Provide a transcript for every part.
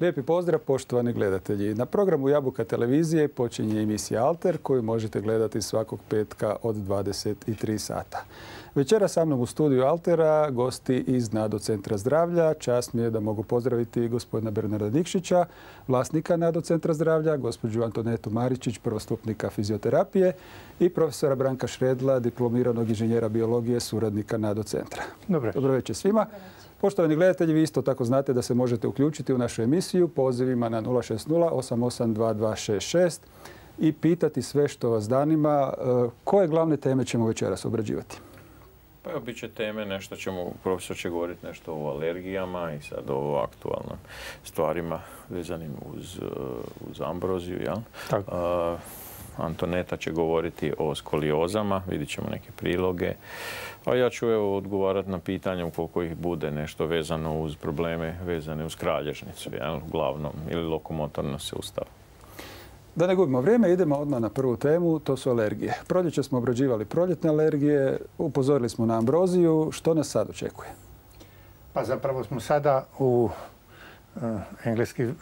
Lijepi pozdrav poštovani gledatelji. Na programu Jabuka televizije počinje emisija Alter koju možete gledati svakog petka od 23 sata. Večera sa mnom u studiju Altera gosti iz Nado Centra zdravlja. Čast mi je da mogu pozdraviti gospodina Bernarda Nikšića, vlasnika Nado Centra zdravlja, gospođu Antonetu Maričić, prvostupnika fizioterapije i profesora Branka Šredla, diplomiranog inženjera biologije, suradnika Nado Centra. Dobro večer svima. Poštovani gledatelji, vi isto tako znate da se možete uključiti u našu emisiju pozivima na 060 88 2266 i pitati sve što vas zanima. Koje glavne teme ćemo večeras obrađivati? Pa evo, bit će teme, nešto ćemo, profesor će govoriti nešto o alergijama i sad o aktualnim stvarima vezanim uz ambroziju, jel? Antoneta će govoriti o skoliozama, vidit ćemo neke priloge. A ja ću odgovarati na pitanje ukoliko ih bude nešto vezano uz probleme vezane uz kralježnicu, jel? Uglavnom, ili lokomotorno sustav. Da ne gubimo vrijeme, idemo odmah na prvu temu, to su alergije. Proljeće smo obrađivali proljetne alergije, upozorili smo na ambroziju. Što nas sad očekuje? Pa zapravo smo sada u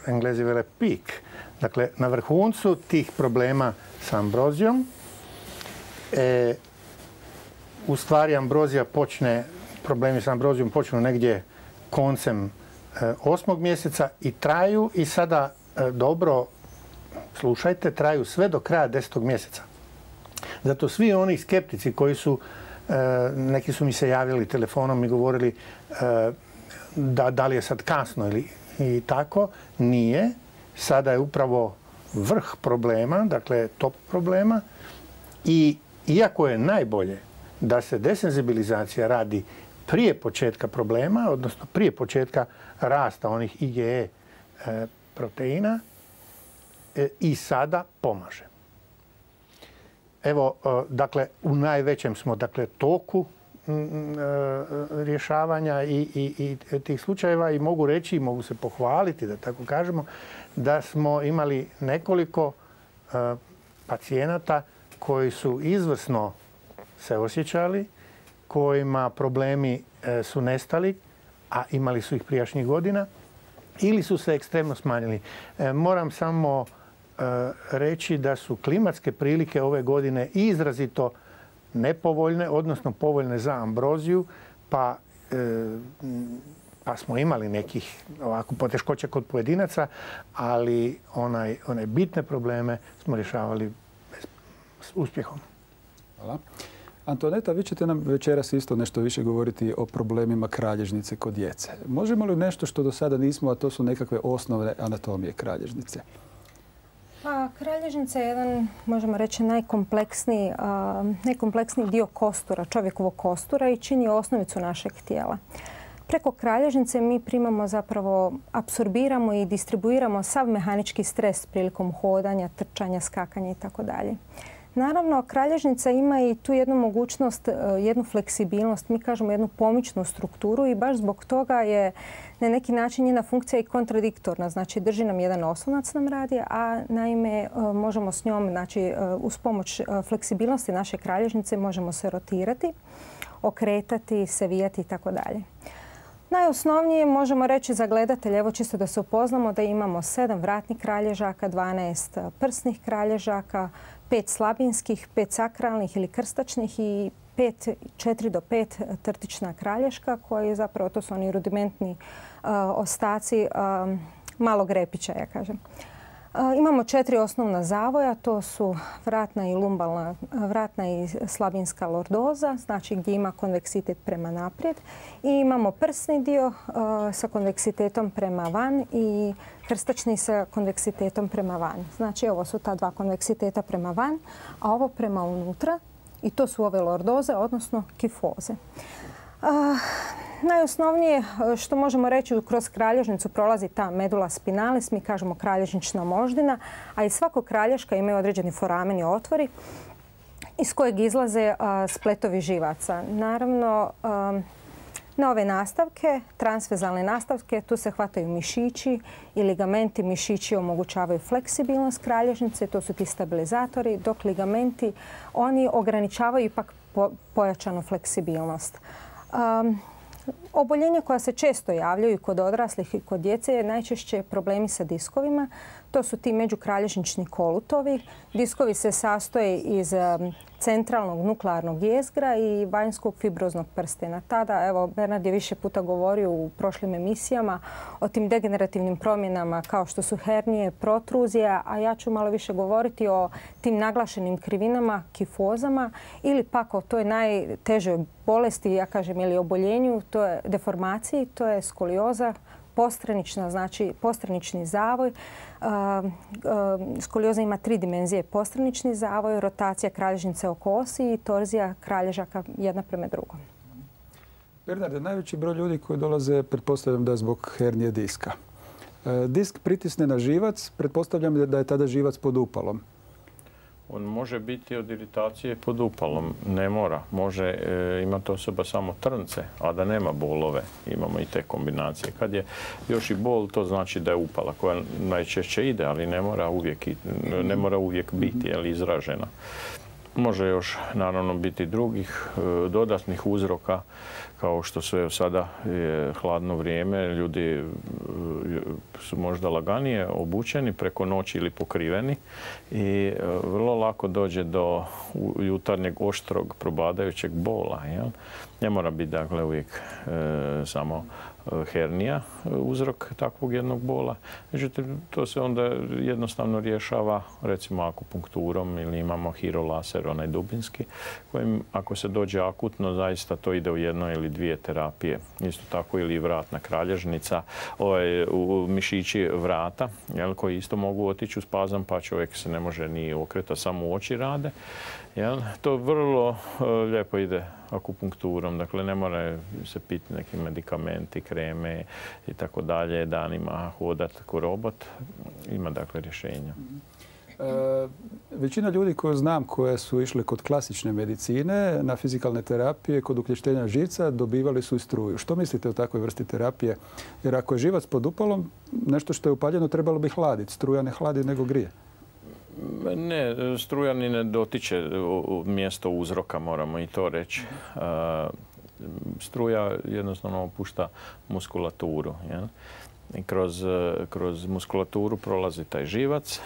Englezi vele peak. Dakle, na vrhuncu tih problema sa ambrozijom. U stvari problemi sa ambrozijom počnu negdje koncem 8. mjeseca i traju i sada dobro slušajte, traju sve do kraja 10. mjeseca. Zato svi oni skeptici koji su, neki su mi se javljali telefonom i govorili da li je sad kasno ili i tako, nije. Sada je upravo vrh problema, dakle top problema i iako je najbolje da se desenzibilizacija radi prije početka problema, odnosno prije početka rasta onih IgE proteina, i sada pomaže. Evo, dakle, u najvećem smo toku rješavanja i tih slučajeva i mogu reći, mogu se pohvaliti, da tako kažemo, da smo imali nekoliko pacijenata koji su izvrsno se osjećali, kojima problemi su nestali, a imali su ih prijašnjih godina, ili su se ekstremno smanjili. Moram samo reći da su klimatske prilike ove godine izrazito nepovoljne, odnosno povoljne za ambroziju, pa smo imali nekih ovako poteškoća kod pojedinaca, ali one bitne probleme smo rješavali s uspjehom. Hvala. Antoneta, vi ćete nam večeras isto nešto više govoriti o problemima kralježnice kod djece. Možemo li nešto što do sada nismo, a to su nekakve osnovne anatomije kralježnice? Pa, kralježnica je jedan, možemo reći, najkompleksniji dio kostura, čovjekovog kostura i čini osnovicu našeg tijela. Preko kralježnice mi primamo, zapravo apsorbiramo i distribuiramo sav mehanički stres prilikom hodanja, trčanja, skakanja itd. Naravno, kralježnica ima i tu jednu mogućnost, jednu fleksibilnost, mi kažemo jednu pomičnu strukturu i baš zbog toga je na neki način njena funkcija i kontradiktorna. Znači, drži nam jedan oslonac nam radi, a naime možemo s njom, znači uz pomoć fleksibilnosti naše kralježnice možemo se rotirati, okretati, savijati itd. Najosnovnije možemo reći za gledatelje, evo čisto da se upoznamo, da imamo 7 vratnih kralježaka, 12 prsnih kralježaka, 5 slabinskih, 5 sakralnih ili krstačnih i 4 do 5 trtična kralješka koji zapravo to su oni rudimentni ostaci malog repića, ja kažem. Imamo 4 osnovna zavoja, to su vratna i slabinska lordoza, znači gdje ima konveksitet prema naprijed. I imamo prsni dio sa konveksitetom prema van i krstačni sa konveksitetom prema van. Znači ovo su ta dva konveksiteta prema van, a ovo prema unutra i to su ove lordoze, odnosno kifoze. Najosnovnije što možemo reći, kroz kralježnicu prolazi ta medula spinalis, mi kažemo kralježnična moždina, a iz svakog kralješka imaju određeni forameni otvori iz kojeg izlaze spletovi živaca. Naravno, na ove nastavke, transvezalne nastavke, tu se hvataju mišići i ligamenti. Mišići omogućavaju fleksibilnost kralježnice, to su ti stabilizatori, dok ligamenti, oni ograničavaju ipak pojačanu fleksibilnost. Oboljenja koja se često javljaju kod odraslih i kod djece je najčešće problemi sa diskovima. To su ti međukralježnični kolutovi. Diskovi se sastoje iz centralnog nuklearnog jezgra i vanjskog fibroznog prstena. Tada, evo, Bernard je više puta govorio u prošlim emisijama o tim degenerativnim promjenama kao što su hernije, protruzija, a ja ću malo više govoriti o tim naglašenim krivinama, kifozama ili pak o toj najtežoj bolesti, ja kažem, ili oboljenju, to je deformaciji, to je skolioza, postranična, znači postranični zavoj. Skolioza ima 3 dimenzije. Postranični zavoj, rotacija kralježnice oko osi i torzija kralježaka jedna prema drugom. Bernarde, najveći broj ljudi koji dolaze, pretpostavljam da je zbog hernije diska. Disk pritisne na živac, pretpostavljam da je tada živac pod upalom. On može biti od iritacije pod upalom, ne mora. Može imati osoba samo trnce, a da nema bolove. Imamo i te kombinacije. Kad je još i bol, to znači da je upala koja najčešće ide, ali ne mora uvijek biti izražena. Može još naravno biti drugih dodatnih uzroka, kao što su sada je hladno vrijeme, ljudi su možda laganije obučeni preko noći ili pokriveni i vrlo lako dođe do jutarnjeg oštrog probadajućeg bola. Jel? Ne mora biti dakle uvijek samo hernija uzrok takvog jednog bola. Međutim, to se onda jednostavno rješava recimo akupunkturom ili imamo hirolaser, onaj dubinski, kojim ako se dođe akutno, zaista to ide u jednoj ili 2 terapije. Isto tako ili vratna kralježnica, u mišići vrata, jel, koji isto mogu otići u spazam, pa čovjek se ne može ni okretati, samo oči rade. Jel? To vrlo lijepo ide akupunkturom, dakle ne mora se piti neki medikamenti, kreme i tako dalje, danima hodati ko robot. Ima dakle rješenja. Većina ljudi koje znam koje su išle kod klasične medicine na fizikalne terapije, kod uključenja živca, dobivali su i struju. Što mislite o takvoj vrsti terapije? Jer ako je živac pod upalom, nešto što je upaljeno trebalo bi hladiti. Struja ne hladi nego grije. Ne, struja ni ne dotiče mjesto uzroka, moramo i to reći. Struja jednostavno opušta muskulaturu. Jel? I kroz muskulaturu prolazi taj živac,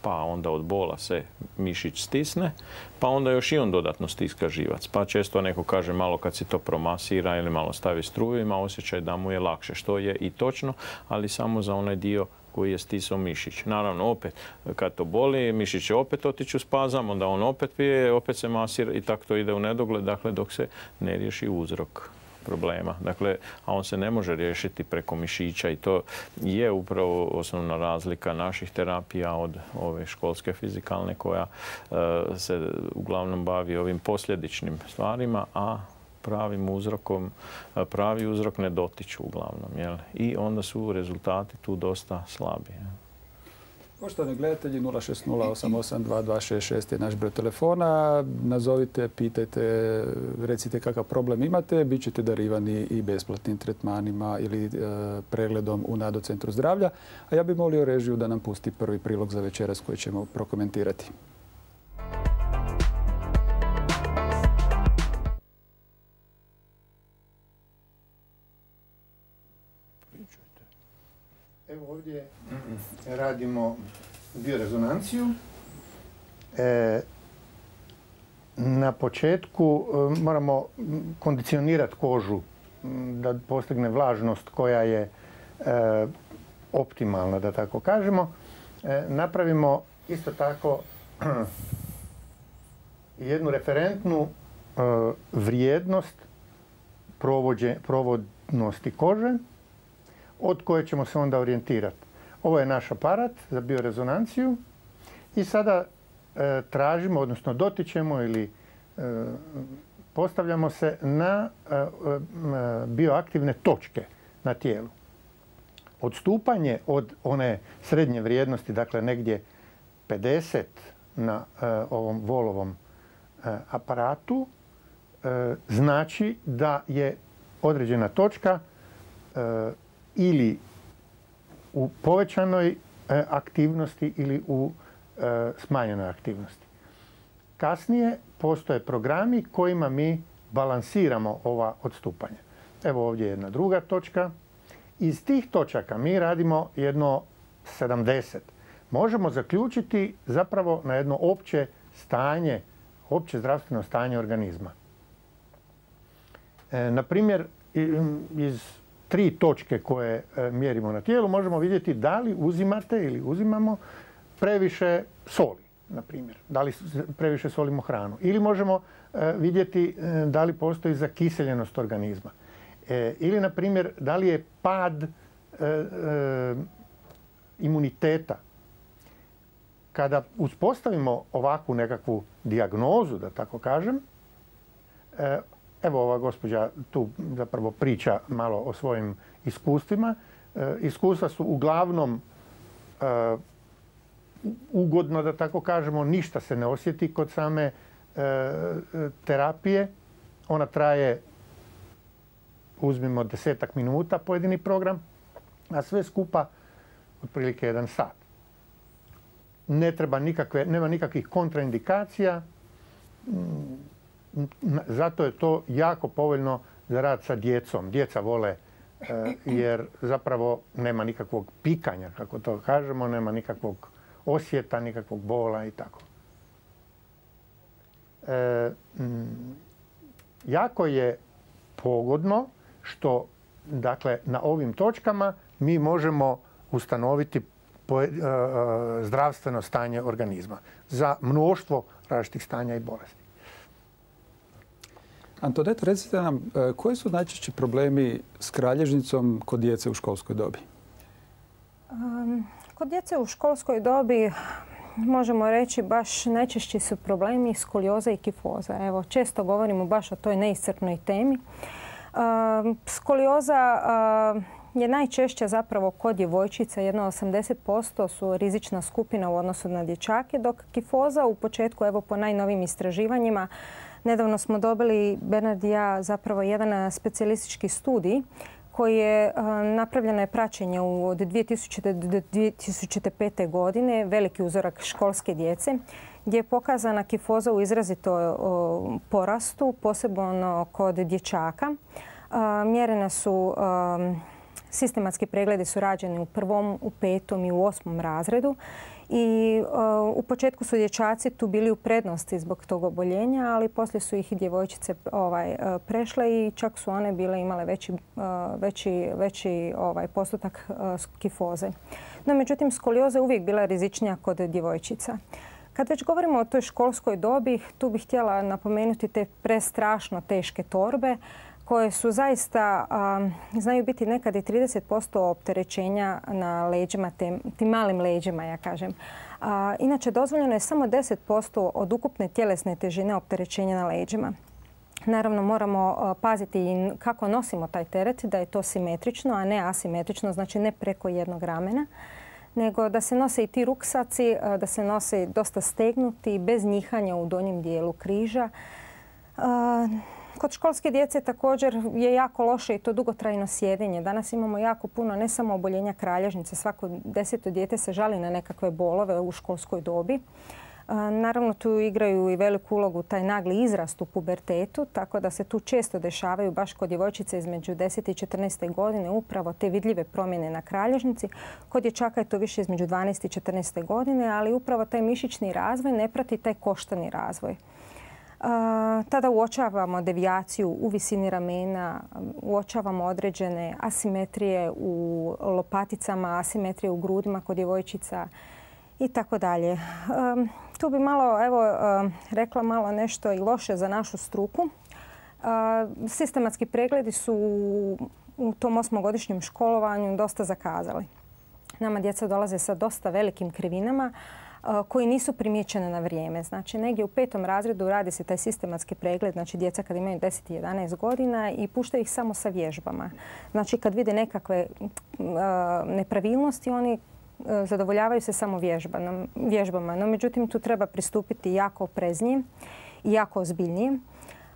pa onda od bola se mišić stisne, pa onda još i on dodatno stiska živac. Pa često neko kaže malo kad se to promasira ili malo stavi struju, ima osjećaj da mu je lakše, što je i točno, ali samo za onaj dio koji je stisao mišić. Naravno, opet, kad to boli, mišić će opet otići u spazam, onda on opet pije, opet se masira i tako to ide u nedogled, dakle, dok se ne riješi uzrok problema. Dakle, a on se ne može riješiti preko mišića i to je upravo osnovna razlika naših terapija od ove školske fizikalne koja se uglavnom bavi ovim posljedičnim stvarima, a pravi uzrok ne dotiču uglavnom. Jel? I onda su rezultati tu dosta slabi. Poštovani gledatelji, 060882266 je naš broj telefona. Nazovite, pitajte, recite kakav problem imate. Bićete darivani i besplatnim tretmanima ili pregledom u Nado centru zdravlja. A ja bih molio režiju da nam pusti prvi prilog za večeras koji ćemo prokomentirati. Evo ovdje radimo biorezonanciju. Na početku moramo kondicionirati kožu da postigne vlažnost koja je optimalna, da tako kažemo. Napravimo isto tako jednu referentnu vrijednost provodnosti kože od koje ćemo se onda orijentirati. Ovo je naš aparat za biorezonanciju i sada tražimo, odnosno dotičemo ili postavljamo se na bioaktivne točke na tijelu. Odstupanje od one srednje vrijednosti, dakle negdje 50 na ovom Volovom aparatu, znači da je određena točka ili u povećanoj aktivnosti ili u smanjenoj aktivnosti. Kasnije postoje programi kojima mi balansiramo ova odstupanja. Evo ovdje jedna druga točka. Iz tih točaka mi radimo jedno 70. Možemo zaključiti zapravo na jedno opće stanje, opće zdravstveno stanje organizma. Na primjer, iz 3 točke koje mjerimo na tijelu možemo vidjeti da li uzimate ili uzimamo previše soli, na primjer. Da li previše solimo hranu. Ili možemo vidjeti da li postoji zakiseljenost organizma. Ili, na primjer, da li je pad imuniteta. Kada uspostavimo ovakvu nekakvu dijagnozu, da tako kažem, evo ova gospođa tu zapravo priča malo o svojim iskustvima. Iskustva su uglavnom ugodno, da tako kažemo, ništa se ne osjeti kod same terapije. Ona traje, uzmimo 10-ak minuta pojedini program, a sve skupa otprilike 1 sat. Nema nikakvih kontraindikacija, zato je to jako povoljno za rad sa djecom. Djeca vole jer zapravo nema nikakvog pikanja, kako to kažemo, nema nikakvog osjeta, nikakvog bola i tako. Jako je pogodno što, dakle, na ovim točkama mi možemo ustanoviti zdravstveno stanje organizma za mnoštvo različitih stanja i bolesti. Antoneto, recite nam, koji su najčešći problemi s kralježnicom kod djece u školskoj dobi? Kod djece u školskoj dobi možemo reći baš najčešći su problemi skolioza i kifoza. Evo, često govorimo baš o toj neiscrpnoj temi. Skolioza je najčešće zapravo kod djevojčica, jedno 80% su rizična skupina u odnosu na dječake, dok kifoza u početku, evo po najnovim istraživanjima, nedavno smo dobili, Bernard i ja, zapravo jedan specijalistički studij koji je napravljeno je praćenje od 2000. do 2005. godine, veliki uzorak školske djece, gdje je pokazana kifoza u izrazito porastu, posebno kod dječaka. Mjerene su, sistematski pregledi su rađeni u 1., u 5. i u 8. razredu. I u početku su dječaci tu bili u prednosti zbog tog oboljenja, ali poslije su ih i djevojčice prešle i čak su one bile imale veći postotak kifoze. No, međutim, skolioza je uvijek bila rizičnija kod djevojčica. Kad već govorimo o toj školskoj dobi, tu bih htjela napomenuti te prestrašno teške torbe koje su zaista, znaju biti nekad i 30% opterećenja na leđima, tim malim leđima, ja kažem. Inače, dozvoljeno je samo 10% od ukupne tjelesne težine opterećenja na leđima. Naravno, moramo paziti i kako nosimo taj teret, da je to simetrično, a ne asimetrično, znači ne preko jednog ramena, nego da se nose i ti ruksaci, da se nose dosta stegnuti, bez njihanja u donjem dijelu križa. Kod školske djece također je jako loše i to dugotrajno sjedenje. Danas imamo jako puno ne samo oboljenja kralježnice. Svako 10. dijete se žali na nekakve bolove u školskoj dobi. Naravno, tu igraju i veliku ulogu taj nagli izrast u pubertetu, tako da se tu često dešavaju baš kod djevojčice između 10. i 14. godine upravo te vidljive promjene na kralježnici. Kod dječaka je to više između 12. i 14. godine, ali upravo taj mišićni razvoj ne prati taj koštani razvoj. Tada uočavamo devijaciju u visini ramena, uočavamo određene asimetrije u lopaticama, asimetrije u grudima kod djevojčica i tako dalje. Tu bi malo, rekla malo nešto i loše za našu struku. Sistematski pregledi su u tom 8-godišnjem školovanju dosta zakazali. Nama djeca dolaze sa dosta velikim krivinama koji nisu primijećene na vrijeme. Znači, negdje u 5. razredu radi se taj sistematski pregled, znači djeca kad imaju 10 i 11 godina i puštaju ih samo sa vježbama. Znači, kad vide nekakve nepravilnosti, oni zadovoljavaju se samo vježbama. No, međutim, tu treba pristupiti jako opreznije i jako ozbiljnije.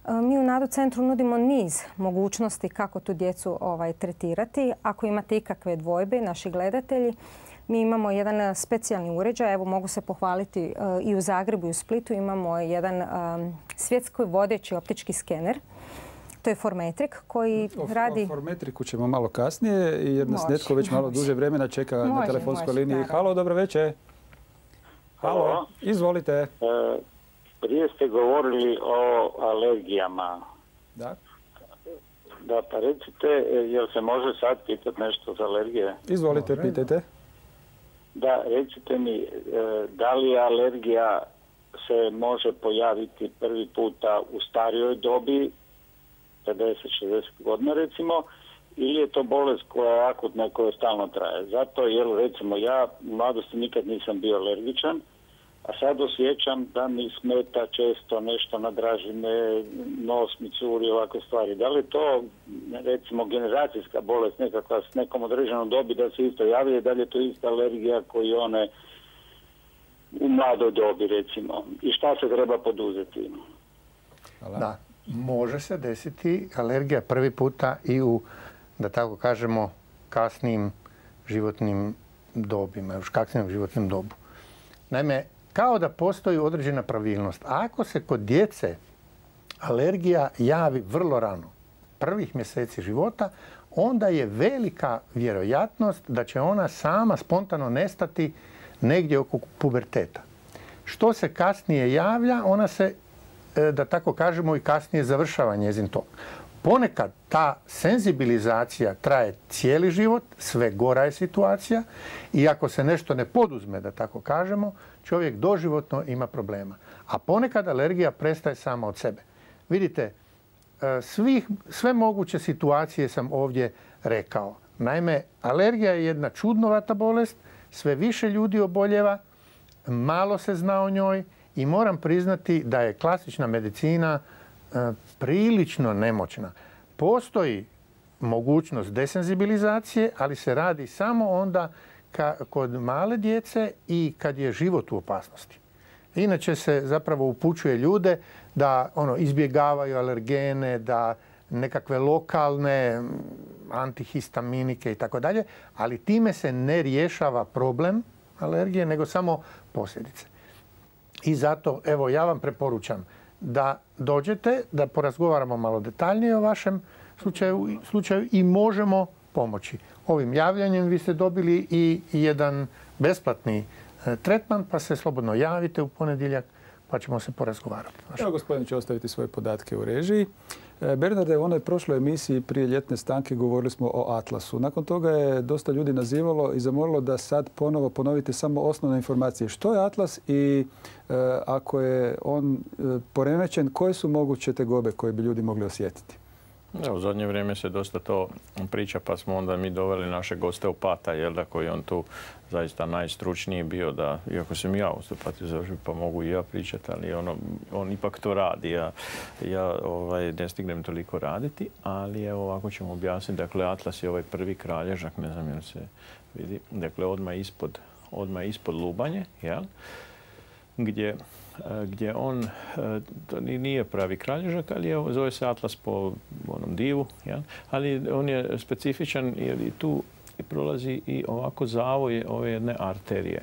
Mi u NADO centru nudimo niz mogućnosti kako tu djecu tretirati. Ako imate ikakve dvojbe, naši gledatelji, mi imamo jedan specijalni uređaj. Evo, mogu se pohvaliti i u Zagrebu i u Splitu. Imamo jedan svjetski vodeći optički skener. To je Formetrik koji radi... O Formetriku ćemo malo kasnije jer nas netko već malo duže vremena čeka na telefonskoj liniji. Halo, dobro večer. Halo, izvolite. Prije ste govorili o alergijama. Da. Da, pa recite, jel se može sad pitati nešto za alergije? Izvolite, pitajte. Da, recite mi, da li alergija se može pojaviti prvi puta u starijoj dobi, 50-60 godina recimo, ili je to bolest koja je akutna i koja stalno traje? Zato jer recimo ja u mladosti nikad nisam bio alergičan, a sad osjećam da mi smeta često nešto na dražine, nos mi curi, ovakve stvari. Da li je to recimo generacijska bolest nekakva s nekom određenom dobi da se isto javlja, da li je to ista alergija koji one u mladoj dobi recimo? I šta se treba poduzeti? Hvala. Da, može se desiti alergija prvi puta i u, da tako kažemo, kasnim životnim dobima, još kasnim životnim dobu. Naime, kao da postoji određena pravilnost. Ako se kod djece alergija javi vrlo rano, prvih mjeseci života, onda je velika vjerojatnost da će ona sama spontano nestati negdje oko puberteta. Što se kasnije javlja, ona se, da tako kažemo, i kasnije završava njezin tok. Ponekad ta senzibilizacija traje cijeli život, sve gora je situacija i ako se nešto ne poduzme, da tako kažemo, čovjek doživotno ima problema. A ponekad alergija prestaje sama od sebe. Vidite, sve moguće situacije sam ovdje rekao. Naime, alergija je jedna čudnovata bolest, sve više ljudi oboljeva, malo se zna o njoj i moram priznati da je klasična medicina prilično nemoćna. Postoji mogućnost desenzibilizacije, ali se radi samo onda kod male djece i kad je život u opasnosti. Inače se zapravo upućuje ljude da izbjegavaju alergene, da nekakve lokalne antihistaminike i tako dalje, ali time se ne rješava problem alergije, nego samo posljedice. I zato, evo, ja vam preporučam da dođete, da porazgovaramo malo detaljnije o vašem slučaju i možemo pomoći. Ovim javljanjem vi ste dobili i jedan besplatni tretman, pa se slobodno javite u ponedjeljak, pa ćemo se porazgovarati. Evo, gospodin će ostaviti svoje podatke u režiji. Bernarde, u onoj prošloj emisiji prije ljetne stanke govorili smo o Atlasu. Nakon toga je dosta ljudi nazivalo i zamolilo da sad ponovo ponovite samo osnovne informacije. Što je Atlas i ako je on poremećen, koje su moguće tegobe koje bi ljudi mogli osjetiti? U zadnje vrijeme se dosta to priča, pa smo onda mi doveli našeg osteopata, koji on tu zaista najstručniji bio, da, iako sam ja osteopatiju završio, pa mogu i ja pričati, ali on ipak to radi. Ja ne stignem toliko raditi, ali evo ovako ćemo objasniti. Dakle, Atlas je ovaj prvi kralježak, ne znam jel se vidi, dakle odmah ispod lubanje, jel? Gdje on, to nije pravi kralježak, ali zove se Atlas po onom divu, ja? Ali on je specifičan jer i tu prolazi i ovako zavoj ove jedne arterije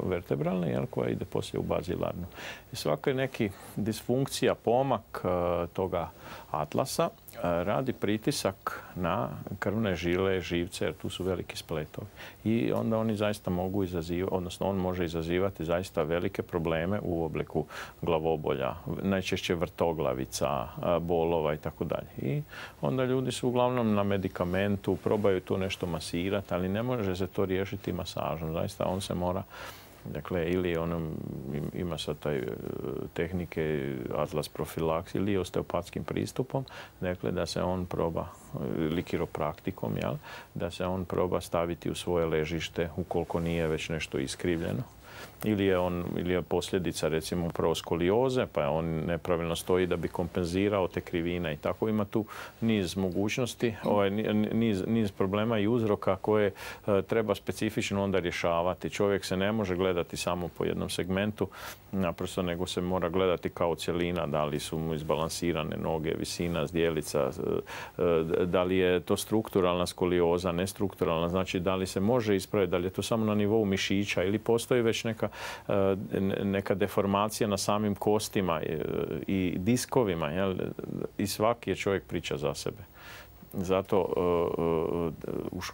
vertebralne, koja ide poslije u bazilarnu. I svaka je neki disfunkcija, pomak toga Atlasa radi pritisak na krvne žile, živce, jer tu su veliki spletovi. I onda oni zaista mogu izazivati, odnosno on može izazivati zaista velike probleme u obliku glavobolja, najčešće vrtoglavica, bolova i tako dalje. I onda ljudi su uglavnom na medikamentu, probaju tu nešto masirati, ali ne može se to riješiti masažom. Zaista on se mora, dakle, ili ima sad taj tehnike Atlas profilaks ili osteopatskim pristupom, dakle, da se on proba, ili kiropraktikom, da se on proba staviti u svoje ležište ukoliko nije već nešto iskrivljeno. Ili je posljedica, recimo, upravo skolioze, pa on nepravilno stoji da bi kompenzirao te krivine i tako. Ima tu niz mogućnosti, niz problema i uzroka koje treba specifično onda rješavati. Čovjek se ne može gledati samo po jednom segmentu, naprosto, nego se mora gledati kao cjelina, da li su mu izbalansirane noge, visina zdjelica, da li je to strukturalna skolioza, nestrukturalna, znači da li se može ispraviti, da li je to samo na nivou mišića ili postoji već već neka deformacija na samim kostima i diskovima. Jel? I svaki je čovjek priča za sebe. Zato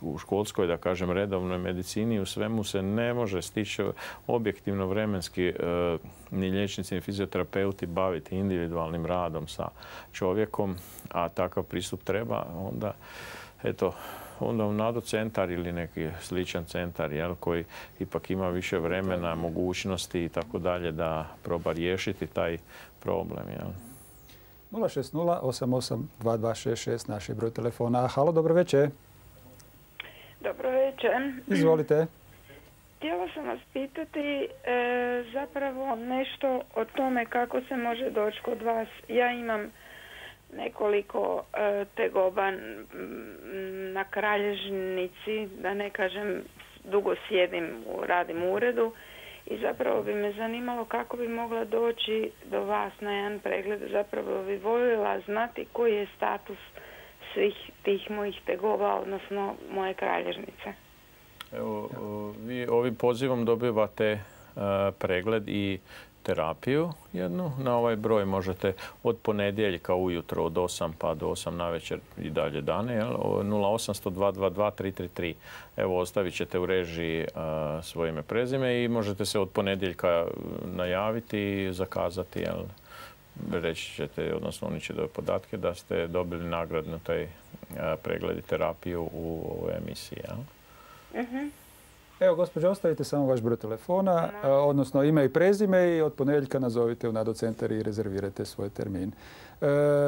u školskoj, da kažem, redovnoj medicini u svemu se ne može stići objektivno vremenski ni liječnici ni fizioterapeuti baviti individualnim radom sa čovjekom, a takav pristup treba, onda u NADO centar ili neki sličan centar koji ipak ima više vremena, mogućnosti i tako dalje da proba riješiti taj problem. 060 88 2266 naš je broj telefona. Halo, dobro večer. Dobro večer. Izvolite. Htjela sam vas pitati zapravo nešto o tome kako se može doći kod vas. Ja imam nekoliko tegoba na kralježnici, da ne kažem dugo sjedim, radim u uredu i zapravo bi me zanimalo kako bi mogla doći do vas na jedan pregled. Zapravo bi voljela znati koji je status svih tih mojih tegoba, odnosno moje kralježnice. Evo, vi ovim pozivom dobivate pregled i terapiju jednu. Na ovaj broj možete od ponedjeljka ujutro od 8 pa do 8 navečer i dalje dane. 0800 222 333. Evo, ostavit ćete u režiji svoje ime, prezime i možete se od ponedjeljka najaviti i zakazati. Reći ćete, odnosno oni će dobiti podatke da ste dobili nagradnu taj pregled i terapiju u ovoj emisiji. Evo, gospođo, ostavite samo vaš broj telefona, odnosno ime i prezime i od ponedjeljka nazovite u NADO centar i rezervirajte svoj termin.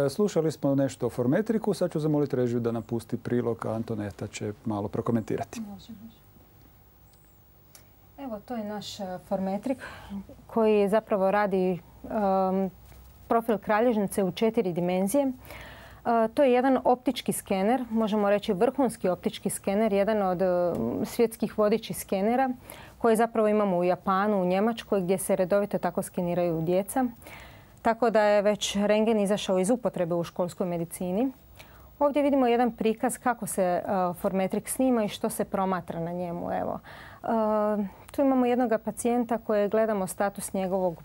Slušali smo nešto o formetriku, sad ću zamoliti režiju da nam pusti prilog, a Antoneta će malo prokomentirati. Evo, to je naš formetrik koji zapravo radi profil kralježnice u 4 dimenzije. To je jedan optički skener, možemo reći vrhunski optički skener, jedan od svjetskih vodećih skenera koje zapravo imamo u Japanu, u Njemačkoj gdje se redovito tako skeniraju djeca. Tako da je već rentgen izašao iz upotrebe u školskoj medicini. Ovdje vidimo jedan prikaz kako se formetrik snima i što se promatra na njemu. Evo. Tu imamo jednog pacijenta koje gledamo status njegovog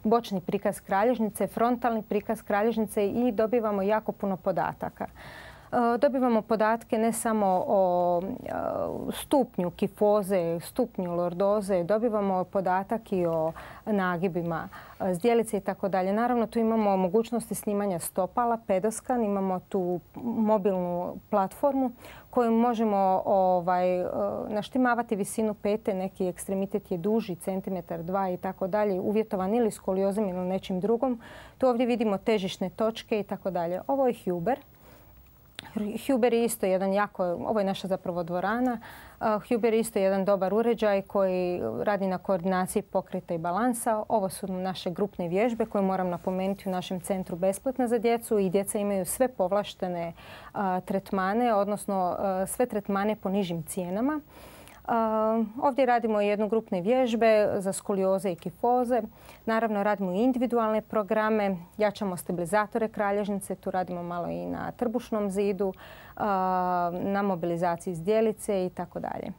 bočni prikaz kralježnice, frontalni prikaz kralježnice i dobivamo jako puno podataka. Dobivamo podatke ne samo o stupnju kifoze, stupnju lordoze, dobivamo podatak i o nagibima zdjelice i tako dalje. Naravno, tu imamo mogućnosti snimanja stopala, pedoskan, imamo tu mobilnu platformu koju možemo naštimavati visinu pete, neki ekstremitet je duži, centimetar, 2 i tako dalje, uvjetovan ili skoliozom ili nečim drugom. Tu ovdje vidimo težišne točke i tako dalje. Ovo je Huber. Huber je isto jedan ovo je naša zapravo dvorana. Huber je isto jedan dobar uređaj koji radi na koordinaciji pokreta i balansa. Ovo su naše grupne vježbe koje moram napomenuti u našem centru besplatne za djecu i djeca imaju sve povlaštene tretmane, odnosno sve tretmane po nižim cijenama. Ovdje radimo jednu grupne vježbe za skolioze i kifoze. Naravno, radimo i individualne programe, jačamo stabilizatore kralježnice, tu radimo malo i na trbušnom zidu, na mobilizaciji zdjelice i tako dalje.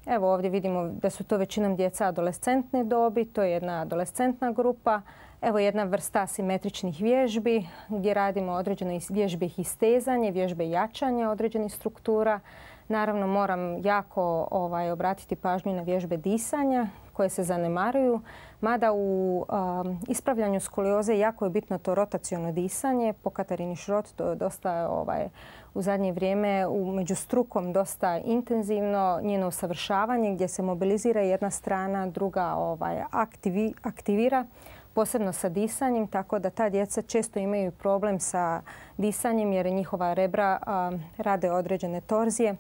Evo ovdje vidimo da su to većinom djeca adolescentne dobi, to je jedna adolescentna grupa. Evo jedna vrsta asimetričnih vježbi gdje radimo određene vježbe istezanje, vježbe jačanja određenih struktura. Naravno, moram jako obratiti pažnju na vježbe disanja koje se zanemaruju, mada u ispravljanju skolioze jako je bitno to rotaciono disanje. Po Katarini Šrot to je dosta u zadnje vrijeme među strukom dosta intenzivno njeno usavršavanje gdje se mobilizira jedna strana, druga aktivira, posebno sa disanjem, tako da ta djeca često imaju problem sa disanjem jer njihova rebra rade određene torzije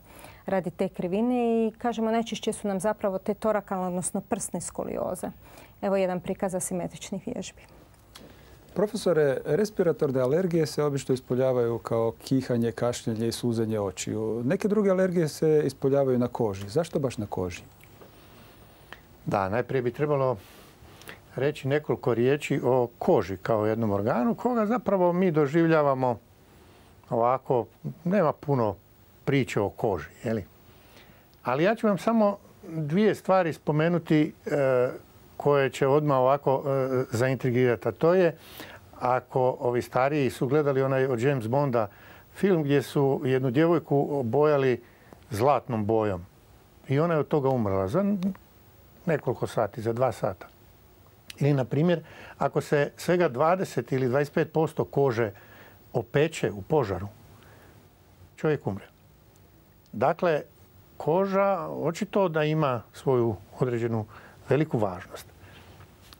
radi te krivine i kažemo najčešće su nam zapravo te torakalne, odnosno prsne skolioze. Evo jedan prikaz asimetričnih vježbi. Profesore, respiratorne alergije se obično ispoljavaju kao kihanje, kašljenje i suzenje očiju. Neke druge alergije se ispoljavaju na koži. Zašto baš na koži? Da, najprije bi trebalo reći nekoliko riječi o koži kao jednom organu koga zapravo mi doživljavamo ovako, nema puno priče o koži. Ali ja ću vam samo dvije stvari spomenuti koje će odmah ovako zaintrigirati. A to je, ako ovi stariji su gledali onaj od James Bonda film gdje su jednu djevojku obojali zlatnom bojom. I ona je od toga umrla za nekoliko sati, za 2 sata. Ili, na primjer, ako se svega 20 ili 25% kože opeče u požaru, čovjek umre. Dakle, koža očito da ima svoju određenu veliku važnost.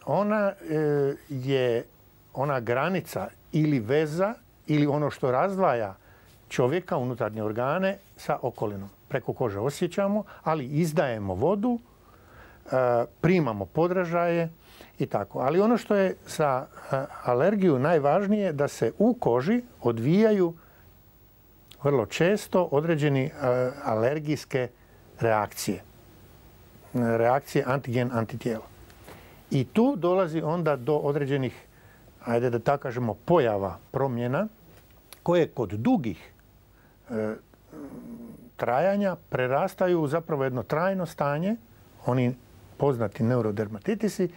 Ona je ona granica ili veza ili ono što razdvaja čovjeka, unutarnje organe, sa okolinom. Preko kože osjećamo, ali izdajemo vodu, primamo podražaje i tako. Ali ono što je za alergiju najvažnije, da se u koži odvijaju vrlo često određeni alergijske reakcije. Reakcije antigen-antitijela. I tu dolazi onda do određenih, ajde da tako kažemo, pojava, promjena, koje kod dugih trajanja prerastaju u zapravo jedno trajno stanje, oni poznati neurodermatitisi,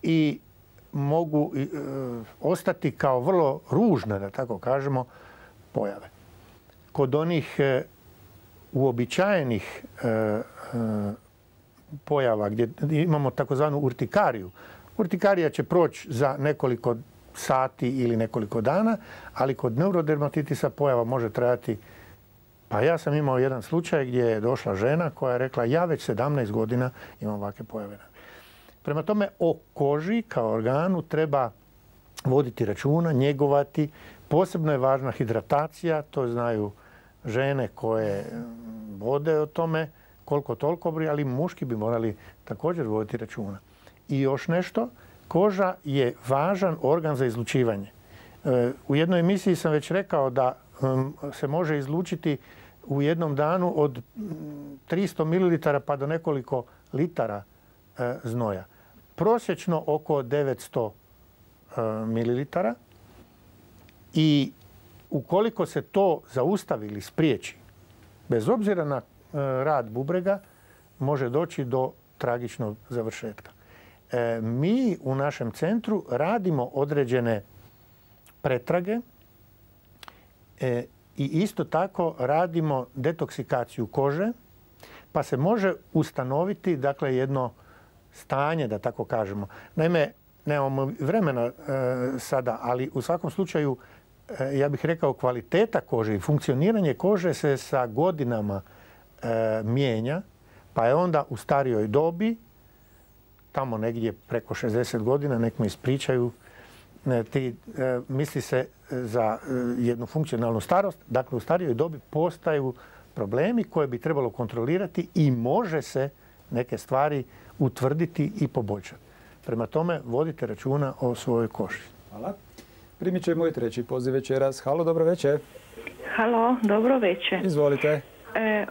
i mogu ostati kao vrlo ružne, da tako kažemo, pojave. Kod onih uobičajenih pojava gdje imamo takozvanu urtikariju. Urtikarija će proći za nekoliko sati ili nekoliko dana, ali kod neurodermatitisa pojava može trajati. Pa ja sam imao jedan slučaj gdje je došla žena koja je rekla, ja već 17 godina imam ovakve pojave. Prema tome, o koži kao organu treba voditi računa, njegovati. Posebno je važna hidratacija, to znaju žene koje vode o tome koliko toliko, ali muški bi morali također voditi računa. I još nešto, koža je važan organ za izlučivanje. U jednoj emisiji sam već rekao da se može izlučiti u jednom danu od 300 ml pa do nekoliko litara znoja. Prosječno oko 900 ml. I ukoliko se to zaustavi ili spriječi, bez obzira na rad bubrega, može doći do tragičnog završetka. Mi u našem centru radimo određene pretrage i isto tako radimo detoksikaciju kože, pa se može ustanoviti, dakle, jedno stanje, da tako kažemo. Naime, nemamo vremena sada, ali u svakom slučaju, ja bih rekao, kvaliteta kože i funkcioniranje kože se sa godinama mijenja, pa je onda u starijoj dobi, tamo negdje preko 60 godina, nek me ispričaju, misli se za jednu funkcionalnu starost, dakle u starijoj dobi postaju problemi koje bi trebalo kontrolirati i može se neke stvari utvrditi i poboljšati. Prema tome, vodite računa o svojoj koži. Hvala. Primit ćemo i treći poziv večeras. Halo, dobro večer. Halo, dobro večer. Izvolite.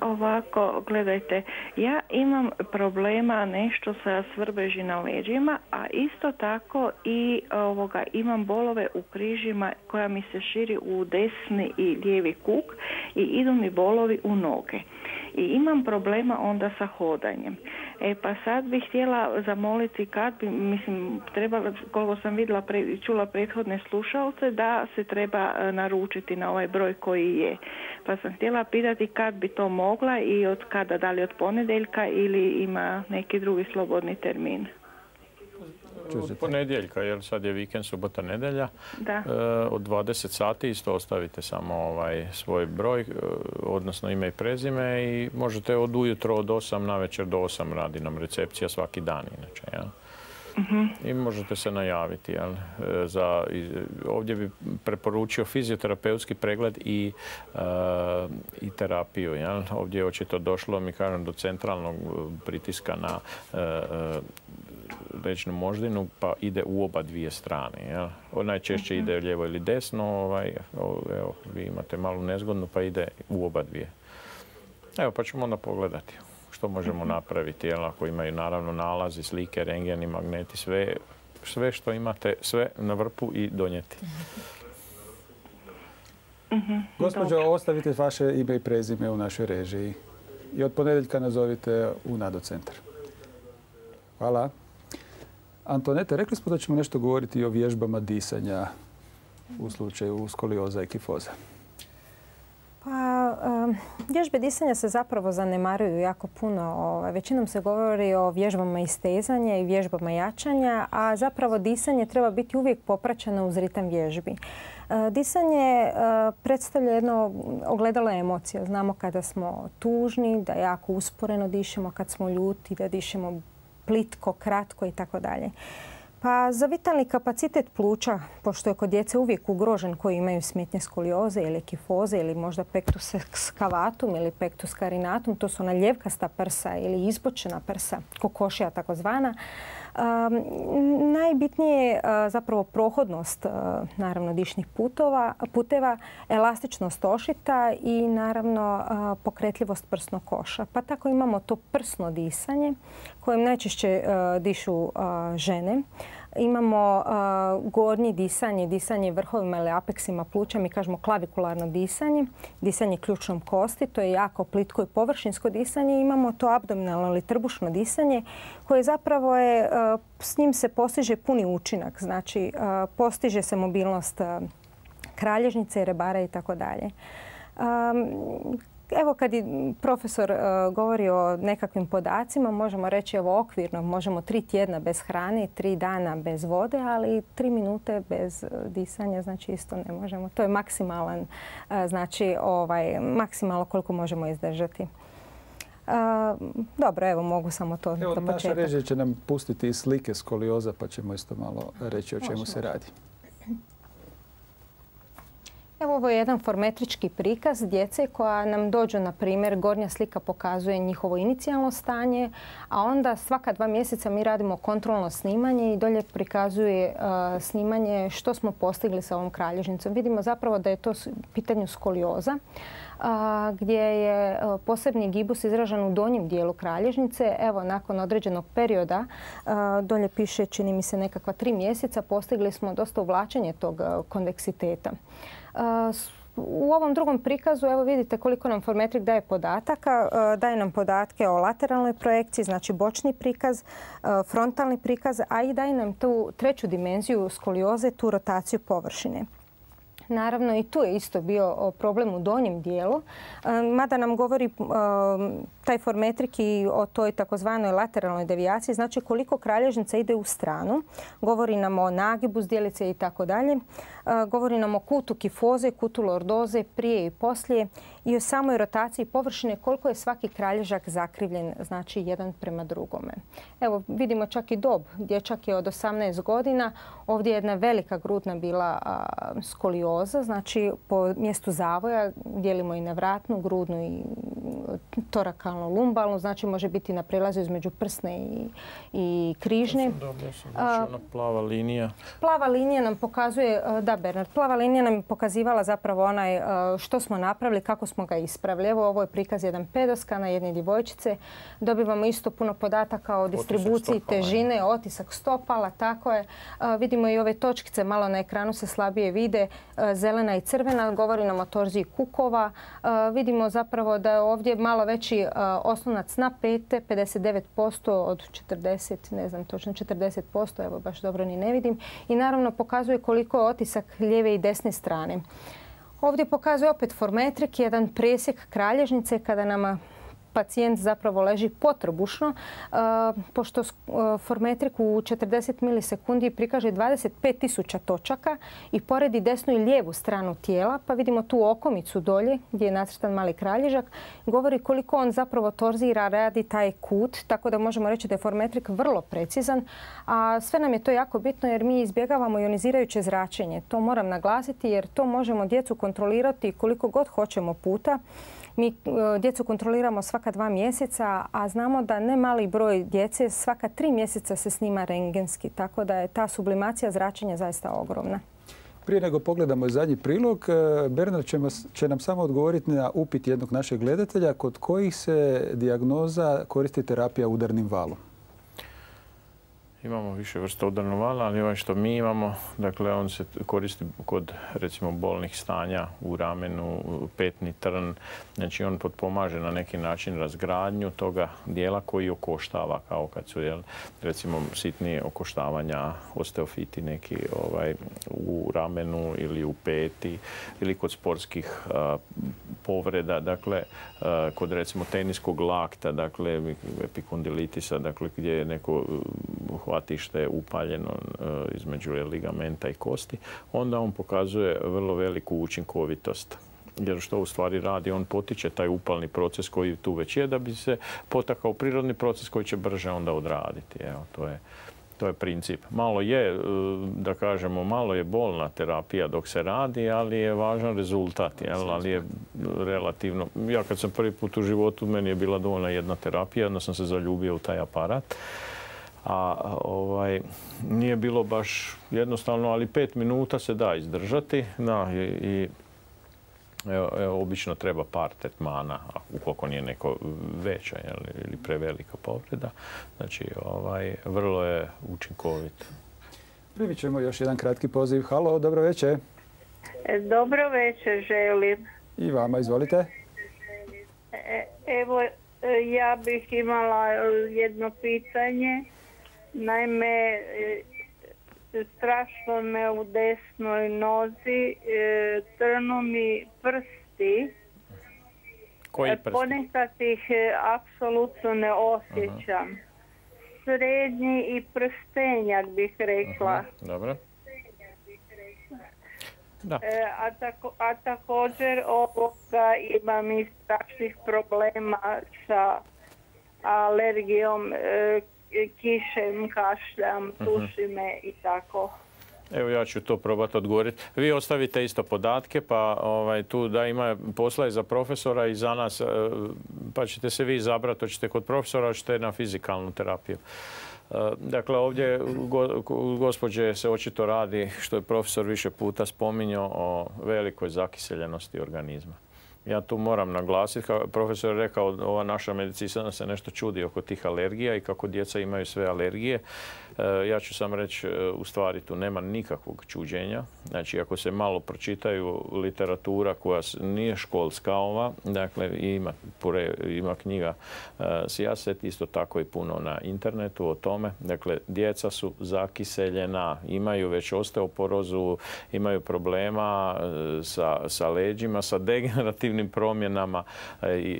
Ovako, gledajte, ja imam problema nešto sa svrbeži na leđima, a isto tako i imam bolove u križima koja mi se širi u desni i lijevi kuk i idu mi bolovi u noge. I imam problema onda sa hodanjem. Pa sad bih htjela zamoliti kad bi, trebala, koliko sam vidjela, čula prethodne slušalce, da se treba naručiti na ovaj broj koji je. Pa sam htjela pitati kad bi to mogla i od kada, da li od ponedjeljka ili ima neki drugi slobodni termin. Od ponedjeljka, jer sad je vikend, subota, nedjelja. Da. Od 20 sati isto ostavite samo svoj broj, odnosno ime i prezime, i možete od ujutro od 8 na večer do 8 radi nam recepcija svaki dan inače. Ja? I možete se najaviti. Jel? Ovdje bi preporučio fizioterapeutski pregled i terapiju. Jel? Ovdje je očito došlo, mi kažem, do centralnog pritiska na leđnu moždinu, pa ide u oba dvije strane. Jel? Najčešće ide lijevo ili desno, evo, vi imate malu nezgodnu, pa ide u oba dvije. Evo, pa ćemo onda pogledati što možemo napraviti, jel? Ako imaju naravno nalazi, slike, rengeni, magneti, sve što imate, sve na vrpu i donijeti. Gospođo, ostavite vaše ime i prezime u našoj režiji. I od ponedjeljka nazovite u Nado centar. Hvala. Antoneta, rekli smo da ćemo nešto govoriti o vježbama disanja u slučaju skolioza i kifoza. Pa, vježbe disanja se zapravo zanemaruju jako puno. Većinom se govori o vježbama istezanja i vježbama jačanja, a zapravo disanje treba biti uvijek popraćeno uz ritam vježbi. Disanje predstavlja jedno ogledalo emocija. Znamo kada smo tužni, da jako usporeno dišemo, kad smo ljuti, da dišemo plitko, kratko i tako dalje. Pa za vitalni kapacitet pluća, pošto je kod djece uvijek ugrožen koji imaju smetnje skolioze ili kifoze ili možda pectus excavatum ili pectus carinatum, to su ona ljevkasta prsa ili izbočena prsa, kokošija takozvana, najbitnije je zapravo prohodnost naravno dišnih puteva, elastičnost ošita i naravno pokretljivost prsnog koša. Pa tako imamo to prsno disanje kojim najčešće dišu žene. Imamo gornje disanje, disanje vrhovima ili apeksima pluća, mi kažemo klavikularno disanje, disanje ključnom kosti, to je jako plitko i površinsko disanje. Imamo to abdominalno ili trbušno disanje koje zapravo je, s njim se postiže puni učinak, znači postiže se mobilnost kralježnice, rebara i tako dalje. Evo kad je profesor govori o nekakvim podacima, možemo reći evo okvirno, možemo 3 tjedna bez hrane, 3 dana bez vode, ali 3 minute bez disanja, znači isto ne možemo. To je maksimalan, znači maksimalno koliko možemo izdržati. Dobro, evo mogu samo to do početka. Naša režija će nam pustiti slike skolioza pa ćemo isto malo reći o čemu se radi. Evo ovo je jedan formetrički prikaz djece koja nam dođu, na primjer, gornja slika pokazuje njihovo inicijalno stanje, a onda svaka 2 mjeseca mi radimo kontrolno snimanje i dolje prikazuje snimanje što smo postigli sa ovom kralježnicom. Vidimo zapravo da je to pitanje skolioza, gdje je posebni gibus izražen u donjem dijelu kralježnice. Evo, nakon određenog perioda, dolje piše, čini mi se, nekakva 3 mjeseca, postigli smo dosta uvlačenje tog konveksiteta. U ovom drugom prikazu evo vidite koliko nam formetrik daje podataka. Daje nam podatke o lateralnoj projekciji, znači bočni prikaz, frontalni prikaz, a i daje nam tu treću dimenziju skolioze, tu rotaciju površine. Naravno i tu je isto bio problem u donjem dijelu, mada nam govori taj formetrik i o toj takozvanoj lateralnoj devijaciji, znači koliko kralježnica ide u stranu. Govori nam o nagibu zdjelice i tako dalje. Govori nam o kutu kifoze, kutu lordoze prije i poslije i o samoj rotaciji površine koliko je svaki kralježak zakrivljen, znači jedan prema drugome. Evo vidimo čak i dob. Dječak je od 18 godina. Ovdje je jedna velika grudna bila skolioza, znači po mjestu zavoja dijelimo i na vratnu, grudnu i torakalnu, lumbalnu, znači može biti na prelazu između prsne i križne. Ona plava linija. Plava linija nam pokazuje, da Bernard, plava linija nam je pokazivala zapravo onaj što smo napravili, kako smo ga ispravili. Evo ovo je prikaz jedan pedoskana, jedne djevojčice. Dobivamo isto puno podataka o distribuciji težine, otisak stopala, tako je. Vidimo i ove točkice, malo na ekranu se slabije vide, zelena i crvena, govori nam o torziji kukova. Vidimo zapravo da je ovdje malo veći oslonac na pete, 59% od 40, ne znam točno 40%, evo baš dobro ni ne vidim. I naravno pokazuje koliko je otisak lijeve i desne strane. Ovdje pokazuje opet formetrik, jedan presjek kralježnice kada nama pacijent zapravo leži potrbušno, pošto formetrik u 40 milisekundi prikaže 25.000 točaka i poredi desnu i lijevu stranu tijela, pa vidimo tu okomicu dolje gdje je nacrtan mali kralježak, govori koliko on zapravo torzira, radi taj kut, tako da možemo reći da je formetrik vrlo precizan, a sve nam je to jako bitno jer mi izbjegavamo ionizirajuće zračenje. To moram naglasiti jer to možemo djecu kontrolirati koliko god hoćemo puta. Mi djecu kontroliramo svaka 2 mjeseca, a znamo da ne mali broj djece svaka 3 mjeseca se snima rentgenski, tako da je ta sublimacija zračenja zaista ogromna. Prije nego pogledamo zadnji prilog, Bernard će nam samo odgovoriti na upit jednog našeg gledatelja kod kojih se dijagnoza koristi terapija udarnim valom. Imamo više vrsta udarnog vala, ali ovaj što mi imamo, dakle, on se koristi kod, recimo, bolnih stanja u ramenu, petni trn. Znači, on potpomaže na neki način razgradnju toga dijela koji okoštava, kao kad su, recimo, sitnije okoštavanja, osteofiti neki u ramenu ili u peti, ili kod sportskih povreda, dakle, kod, recimo, teniskog lakta, dakle, epikondilitisa, dakle, gdje je neko hvatište upaljeno između ligamenta i kosti, onda on pokazuje vrlo veliku učinkovitost. Jer što u stvari radi, on potiče taj upalni proces koji tu već je, da bi se potakao prirodni proces koji će brže onda odraditi. Evo, to je princip. Malo je, da kažemo, malo je bolna terapija dok se radi, ali je važan rezultat, ali je relativno... Ja kad sam prvi put u životu, meni je bila dovoljna jedna terapija, onda sam se zaljubio u taj aparat. A nije bilo baš jednostavno, ali 5 minuta se da izdržati. I obično treba par tretmana, ukoliko nije neko veća ili prevelika povreda. Znači, vrlo je učinkovit. Primit ćemo još jedan kratki poziv. Halo, dobro večer. Dobro večer, želim. I vama, izvolite. Evo, ja bih imala jedno pitanje. Naime, strašno me u desnoj nozi, trnu mi prsti. Koji prsti? Ponekad ih apsolutno ne osjećam. Srednji i prstenjak bih rekla. Dobro. Da. A također imam i strašnih problema sa alergijom, kišem, kašljam, tuši me i tako. Evo, ja ću to probati odgovoriti. Vi ostavite isto podatke, pa tu da ima posla i za profesora i za nas, pa ćete se vi izabrati, hoćete kod profesora, hoćete na fizikalnu terapiju. Dakle, ovdje gospođe se očito radi, što je profesor više puta spominjao, o velikoj zakiseljenosti organizma. Ja tu moram naglasiti, kao profesor je rekao, ova naša medicina se nešto čudi oko tih alergija i kako djeca imaju sve alergije. Ja ću sam reći, u stvari tu nema nikakvog čuđenja. Znači, ako se malo pročitaju literatura koja nije školska ova, dakle, ima knjiga Sijaset, isto tako i puno na internetu o tome. Dakle, djeca su zakiseljena, imaju već osteoporozu, imaju problema sa leđima, sa degenerativnim promjenama.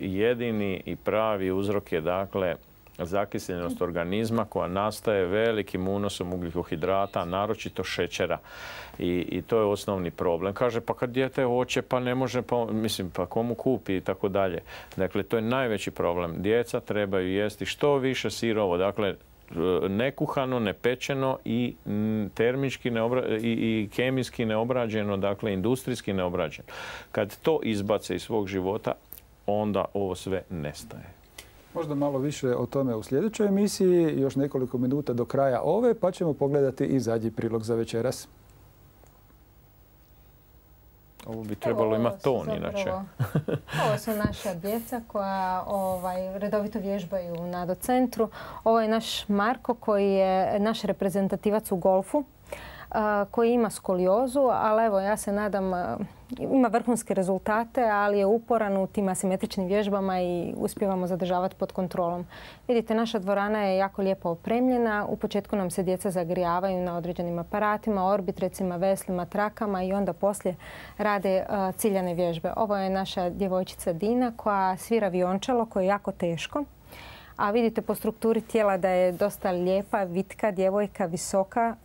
Jedini i pravi uzrok je, dakle, zakiseljenost organizma koja nastaje velikim unosom ugljikohidrata, naročito šećera. I to je osnovni problem. Kaže, pa kad dijete hoće, pa ne može, pa komu kupi i tako dalje. Dakle, to je najveći problem. Djeca trebaju jesti što više sirovo. Dakle, nekuhano, nepečeno i termički i kemijski neobrađeno, dakle, industrijski neobrađeno. Kad to izbace iz svog života, onda ovo sve nestaje. Možda malo više o tome u sljedećoj emisiji, još nekoliko minuta do kraja ove, pa ćemo pogledati i zadnji prilog za večeras. Ovo bi trebalo imati ton, inače. Ovo su naša djeca koja redovito vježbaju u NADO centru. Ovo je naš Marko koji je naš reprezentativac u golfu, koji ima skoliozu, ali evo, ja se nadam, ima vrhunske rezultate, ali je uporan u tim asimetričnim vježbama i uspijevamo zadržavati pod kontrolom. Vidite, naša dvorana je jako lijepo opremljena. U početku nam se djeca zagrijavaju na određenim aparatima, orbitrecima, veslima, trakama i onda poslije rade ciljane vježbe. Ovo je naša djevojčica Dina koja svira viončalo koje je jako teško. A vidite po strukturi tijela da je dosta lijepa, vitka, djevojka, visoka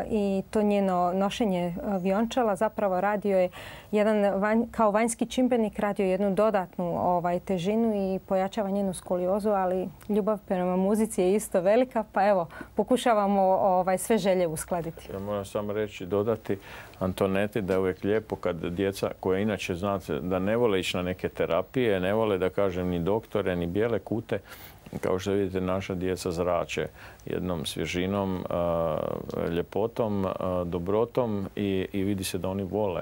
i to njeno nošenje viončala zapravo radio je kao vanjski čimbenik radio jednu dodatnu težinu i pojačava njenu skoliozu, ali ljubav prema muzici je isto velika, pa evo, pokušavamo sve želje uskladiti. Ja moram samo reći, dodati Antoneti da je uvijek lijepo kad djeca koja inače znate da ne vole ići na neke terapije, ne vole da kažem ni doktore, ni bijele kute, kao što vidite, naša djeca zrače jednom svježinom, ljepotom, dobrotom i vidi se da oni vole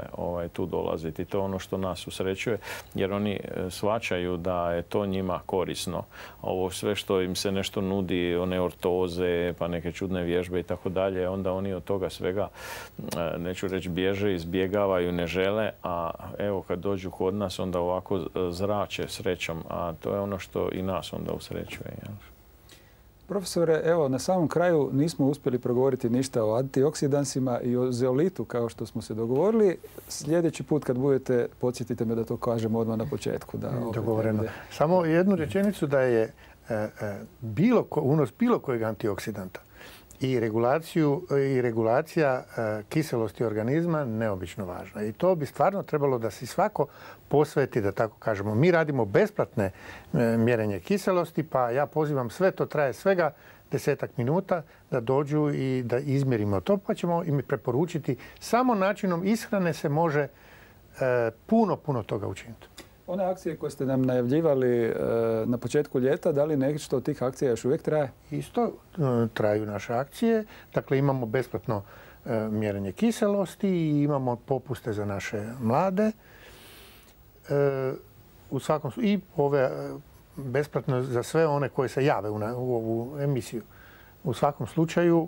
tu dolaziti. To je ono što nas usrećuje, jer oni shvaćaju da je to njima korisno. Ovo sve što im se nešto nudi, one ortoze, pa neke čudne vježbe i tako dalje, onda oni od toga svega, neću reći bježe, izbjegavaju, ne žele, a evo kad dođu kod nas onda ovako zrače srećom, a to je ono što i nas onda usrećuje. Profesore, evo na samom kraju nismo uspjeli progovoriti ništa o antioksidansima i o zeolitu kao što smo se dogovorili. Sljedeći put kad budete, podsjetite me da to kažemo odmah na početku. Dogovoreno. Samo jednu rečenicu da je unos bilo kojeg antioksidanta i regulacija kiselosti organizma neobično važna. I to bi stvarno trebalo da si svako posveti, da tako kažemo. Mi radimo besplatne mjerenje kiselosti, pa ja pozivam sve, to traje svega 10 minuta, da dođu i da izmjerimo to, pa ćemo im preporučiti. Samo načinom ishrane se može puno toga učiniti. One akcije koje ste nam najavljivali na početku ljeta, da li nešto od tih akcija još uvijek traje? Isto traju naše akcije. Dakle, imamo besplatno mjerenje kiselosti i imamo popuste za naše mlade. I ove besplatno za sve one koje se jave u ovu emisiju. U svakom slučaju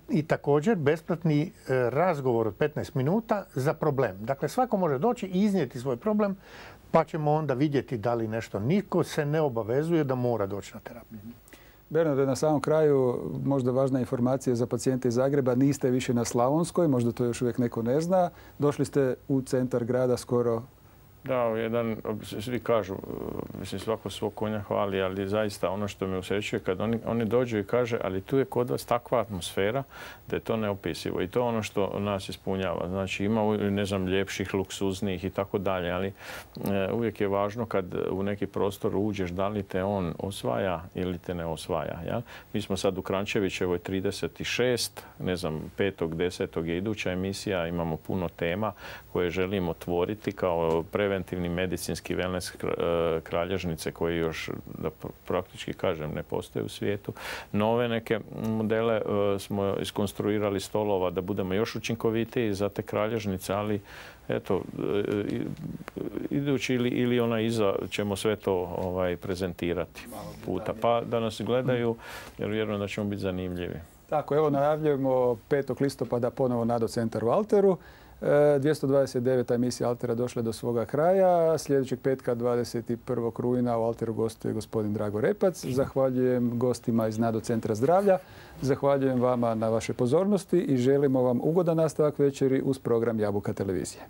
i također besplatni razgovor od 15 minuta za problem. Dakle, svako može doći i iznijeti svoj problem, pa ćemo onda vidjeti da li nešto. Niko se ne obavezuje da mora doći na terapiju. Bernarde, na samom kraju možda važna informacija za pacijente iz Zagreba. Niste više na Slavonskoj, možda to još uvijek neko ne zna. Došli ste u centar grada skoro. Da, svi kažu, mislim svako svog konja hvali, ali zaista ono što me usrećuje kad oni dođu i kaže, ali tu je kod vas takva atmosfera da je to neopisivo i to je ono što nas ispunjava. Znači ima, ne znam, ljepših, luksuznijih i tako dalje, ali uvijek je važno kad u neki prostor uđeš da li te on osvaja ili te ne osvaja. Ja? Mi smo sad u Krančevićevoj 36, ne znam, 5.10. je iduća emisija, imamo puno tema koje želimo otvoriti kao preventivni medicinski wellness kralježnice koji još, da praktički kažem, ne postoje u svijetu. Nove neke modele smo iskonstruirali stolova da budemo još učinkovitiji za te kralježnice, ali eto, idući ili ona iza ćemo sve to prezentirati puta. Pa da nas gledaju, jer vjerujem da ćemo biti zanimljivi. Tako, evo najavljujemo 5. listopada ponovo Nado centar u Alteru. 229. emisija Altera došla do svoga kraja. Sljedećeg petka 21. rujna u Alteru gostuje gospodin Drago Repac. Zahvaljujem gostima iz Nado centra zdravlja. Zahvaljujem vama na vašoj pozornosti i želimo vam ugodan nastavak večeri uz program Jabuka televizije.